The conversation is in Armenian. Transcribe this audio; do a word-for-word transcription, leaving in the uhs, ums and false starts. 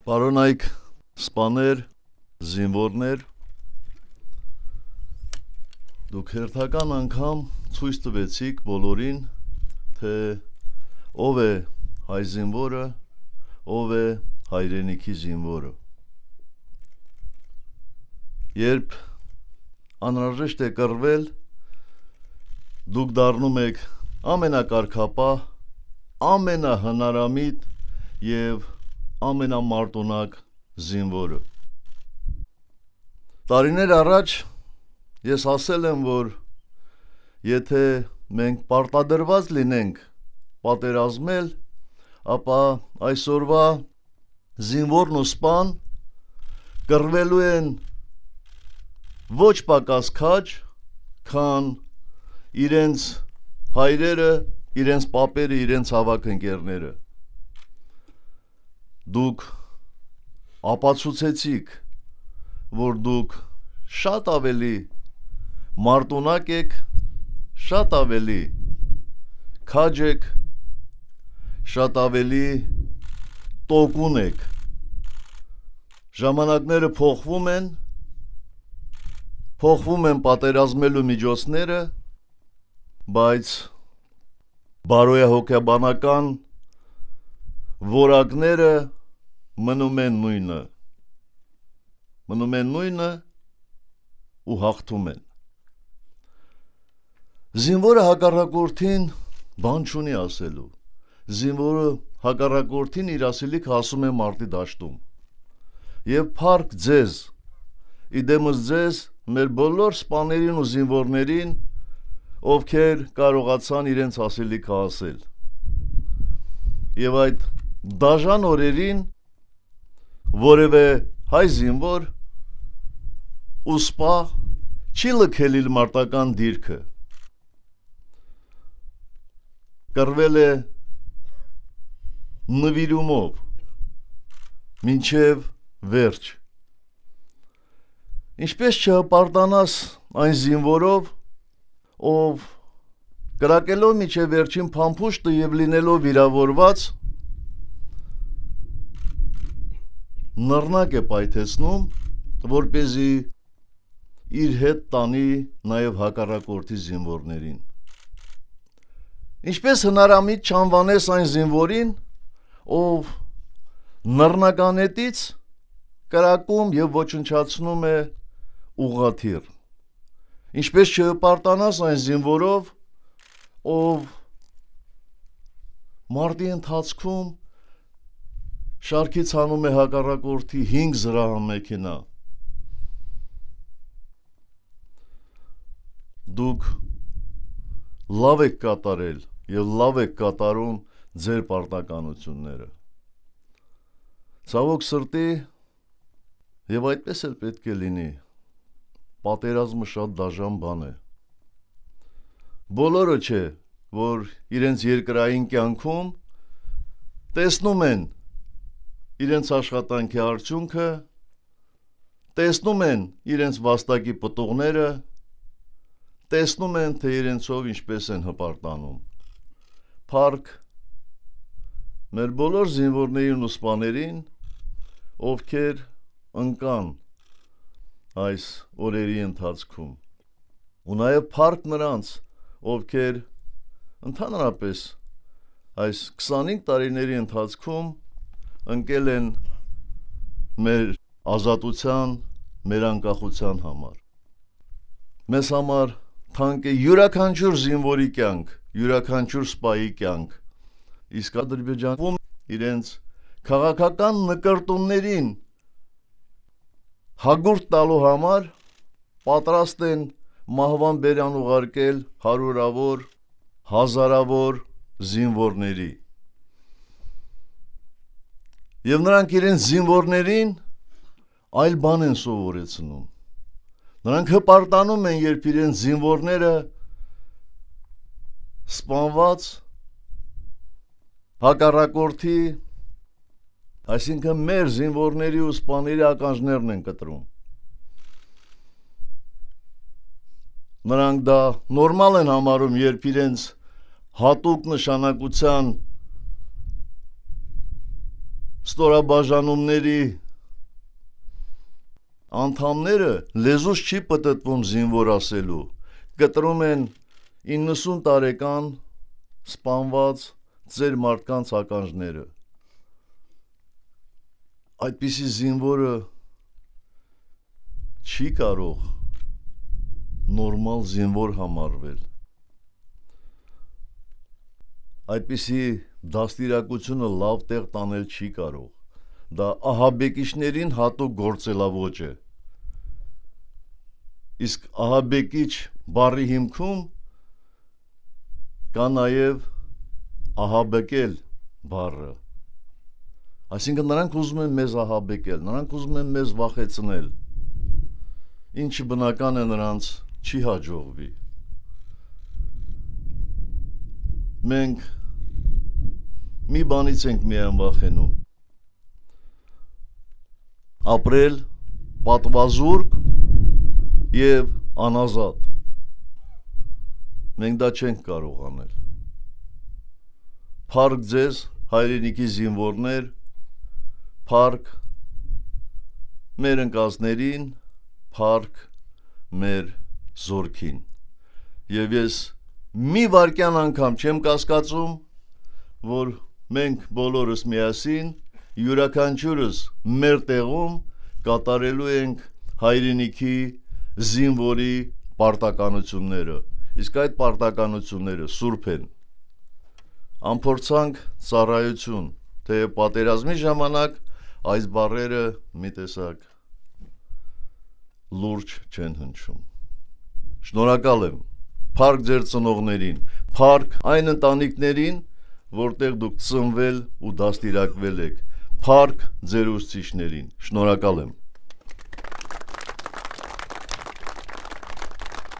Պարոնայք սպաներ, զինվորներ, դուք հերթական անգամ ցույց տվեցիք բոլորին, թե ով է հայ զինվորը, ով է հայրենիքի զինվորը։ Երբ անհրաժեշտ է կռվել, դուք դառնում եք ամենակարգապահ, ամենահնարամիտ եւ ամենամարտունակ զինվորը։ Տարիներ առաջ ես ասել եմ, որ եթե մենք պարտադրված լինենք պատերազմել, ապա այսօրվա զինվորն ու սպան կռվելու են ոչ պակաս քաջ, քան իրենց հայրերը, իրենց պապերը, իրենց հավաք ընկերները։ Դուք ապացուցեցիք, որ դուք շատ ավելի մարտունակ եք, շատ ավելի քաջ եք, շատ ավելի տոկուն եք։ Ժամանակները փոխվում են, փոխվում են պատերազմելու միջոցները, բայց բարոյահոգեբանական որակները մնում են նույնը, մնում են նույնը ու հաղթում են։ Զինվորը հակառակորդին բան չունի ասելու, զինվորը հակառակորդին իր ասելիքը ասում է մարտի դաշտում։ Եվ փառք ձեզ, իդեմս ձեզ, մեր բոլոր սպաներին ու զինվորներին, ովքեր կարողացան իրենց ասելիքը ասել։ Եվ այդ դաժան օրերին որևէ հայ զինվոր ու սպա չի լքել իր մարտական դիրքը։ Կռվել է նվիրումով մինչև վերջ։ Ինչպես չհպարտանաս այն զինվորով, ով կրակելով միջև վերջին փամփուշտը եւ լինելով վիրավորված նռնակ է պայթեցնում, որպեսզի իր հետ տանի նաեւ հակառակորդի զինվորներին։ Ինչպես հնարամիտ չանվանես այն զինվորին, ով նռնականետից կրակում եւ ոչնչացնում է ուղղաթիռ։ Ինչպես չհպարտանաս այն զինվորով, ով մարտի ընթացքում շարքից հանում է հակառակորդի հինգ զրահամեքենա։ Դուք լավ եք կատարել եւ լավ եք կատարում ձեր պարտականությունները։ Ցավոք սրտի, եւ այդպես էլ պետք է լինի, պատերազմը շատ դաժան բան է։ Բոլորը չէ, որ իրենց երկրային կյանքում տեսնում են իրենց աշխատանքի արդյունքը, տեսնում են իրենց վաստակի պտուղները, տեսնում են, թե իրենցով ինչպես են հպարտանում։ Փառք մեր բոլոր զինվորներին ու սպաներին, ովքեր ընկան այս օրերի ընթացքում, ու նաև փառք նրանց, ովքեր ընդհանրապես այս քսանհինգ տարիների ընթացքում ընկել են մեր ազատության, մեր անկախության համար։ Մեզ համար թանկ է յուրաքանչյուր զինվորի կյանք, յուրաքանչյուր սպայի կյանք, իսկ Ադրբեջանում իրենց քաղաքական նկարտումներին հագուրդ տալու համար պատրաստ են մահվան բերան ուղարկել հարյուրավոր, հազարավոր զինվորների։ Եվ նրանք իրենց զինվորներին այլ բան են սովորեցնում։ Նրանք հպարտանում են, երբ իրենց զինվորները սպանված հակառակորդի, այսինքն մեր զինվորների ու սպաների ականջներն են կտրում։ Նրանք դա նորմալ են համարում, երբ իրենց հատուկ նշանակության ստորաբաժանումների անդամները լեզուս չի պտտվում զինվոր ասելու, կտրում են իննսուն տարեկան սպանված ձեր մարդկանց ականջները։ Այդպիսի զինվորը չի կարող նորմալ զինվոր համարվել։ Այդպիսի դաստիարակությունը լավ տեղ տանել չի կարող։ Դա ահաբեկիչներին հատուկ գործելավոճ է։ Իսկ ահաբեկիչ բառի հիմքում կա նաև ահաբեկել բառը։ Այսինքն նրանք ուզում են մեզ ահաբեկել, նրանք ուզում են մեզ վախեցնել, ինչը բնական է նրանց չի հաջողվի։ Մենք մի բանից ենք միայն վախենում. ապրել պատվազուրկ եւ անազատ։ Մենք դա չենք կարող անել։ Փառք ձեզ հայրենիքի զինվորներ, փառք մեր ընկածներին, փառք մեր զորքին։ Եվ ես մի վարքյան անգամ չեմ կասկածում, որ մենք բոլորս միասին յուրաքանչյուրս մեր տեղում կատարելու ենք հայրենիքի զինվորի պարտականությունները, իսկ այդ պարտականությունները սուրբ են։ Անփորձանք ծառայություն, թե պատերազմի ժամանակ այս բառերը մի տեսակ լուրջ չեն հնչում։ Շնորհակալ եմ, փառք ձեր ծնողներին, փառք այն ընտանիքներին, որտեղ դուք ծնվել ու դաստիարակվել եք, փառք ձեր ուսուցիչներին, շնորհակալ եմ։